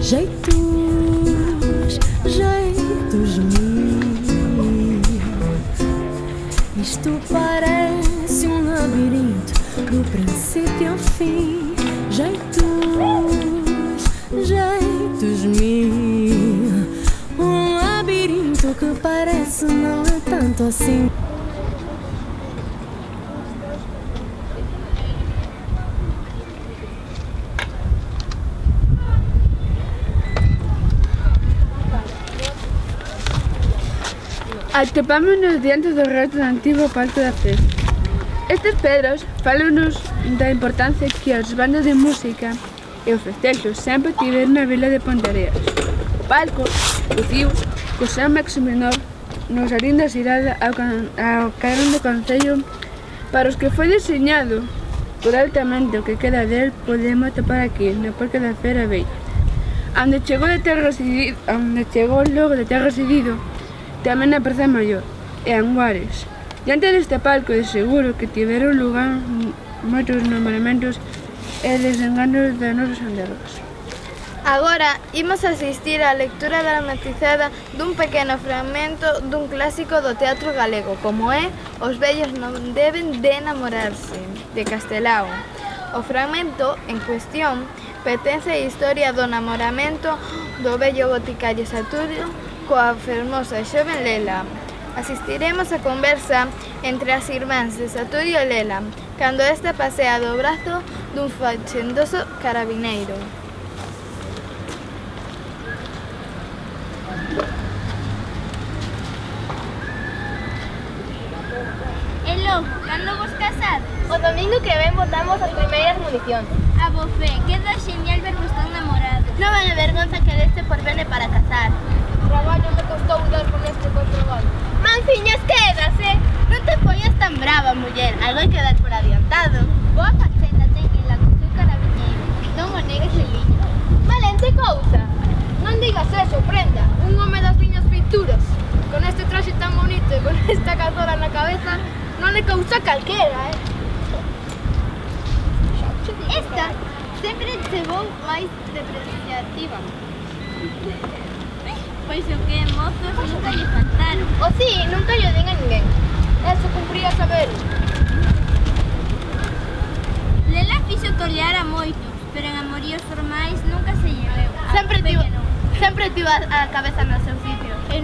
Jeitos, jeitos mil. Isto parece um labirinto do princípio ao fim. Jeitos, jeitos mil. Um labirinto que parece não é tanto assim. Atopámonos diante do resto do antigo Parque da Fe. Estes pedros fálanos da importancia que as bandas de música e os festexos sempre tiveron na vila de Ponteareas. O palco luciu co seu máximo menor nos harín da cidade ao carón do concello para os que foi diseñado por altamente o que queda del podemos topar aquí no Parque da Fe da Vella, onde chegou logo de ter residido tamén na Praza Maior e Anguares. Diante deste palco de seguro que tiveron lugar moitos nombramentos e desenganos de nosos andados. Agora imos asistir á lectura dramatizada dun pequeno fragmento dun clásico do teatro galego, como é Os vellos non deben de enamorarse, de Castelao. O fragmento en cuestión pertence á historia do namoramento do vello boticario Saturio coa fermosa e xoven Lela. Asistiremos á conversa entre as irmáns de Saturio e Lela, cando esta pasea do brazo dun fachendoso carabineiro. E logo, cando vos casades? O domingo que ven botamos as primeiras municións. A bofé, queda genial ver vos tan namorados. Non é vergonza que deste por vene para casar. Traballo me costou dar con este traballo. Manciñas, quédase. Non te poñas tan brava, muller. Algo hai que dar por adiantado. Boa faceta ten ela co seu carabineiro. Non o negues el liño. Valente cousa. Non digas eso, prenda. Un home das miñas pinturas. Con este traxe tan bonito e con esta cazora na cabeza, non le causa calquera, Esta sempre se vou máis depreciativa. Pois o que, mozos, nunca lle faltaron. O si, nunca lle den a ninguén. Eso cumpría saber. Lela fixo tolear a moitos, pero en amoríos formais nunca se lle veu. Sempre tivo a cabeza no seu sitio. E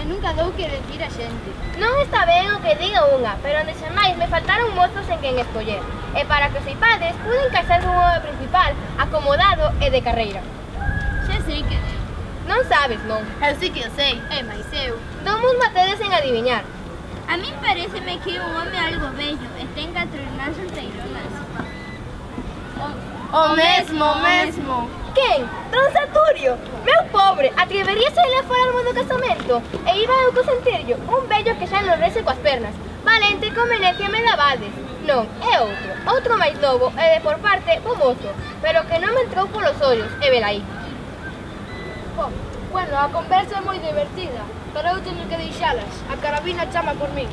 nunca dou que decir a xente. Non está ben o que diga unha, pero onde xa máis me faltaron mozos en quen escoller. E para que os seipades, pude casar dun home principal, acomodado e de carreira. Xa sei que deu. Non sabes, non? Eu sí que o sei, mais eu. Domos matedes en adiviñar. A min pareceme que é un home algo bello e ten 4 irmás solteironas. O mesmo. Quen? Don Saturio? Meu pobre, atreveríase a ir fora do casamento? E iba eu consentirlo, un vello que xa non rece coas pernas. Valente conveniencia me dabades. Non, é outro máis novo e de por parte bo mozo, pero que non me entrou polos ollos, e velaí. Bueno, a conversa é moi divertida, pero eu teño que deixalas. A carabina chama por min.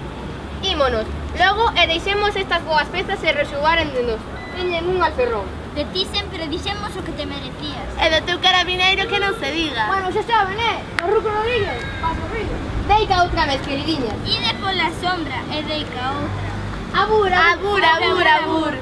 Ímonos, logo e deixemos estas boas pezas se resugaren de nos. Teñen un alferrón. De ti sempre dixemos o que te merecías. E do teu carabineiro que non se diga. Bueno, xa saben, o Ruco Rodríguez, paso río. Deica outra vez, queridinha. Ide pola sombra e deica outra. Abur, abur, abur, abur.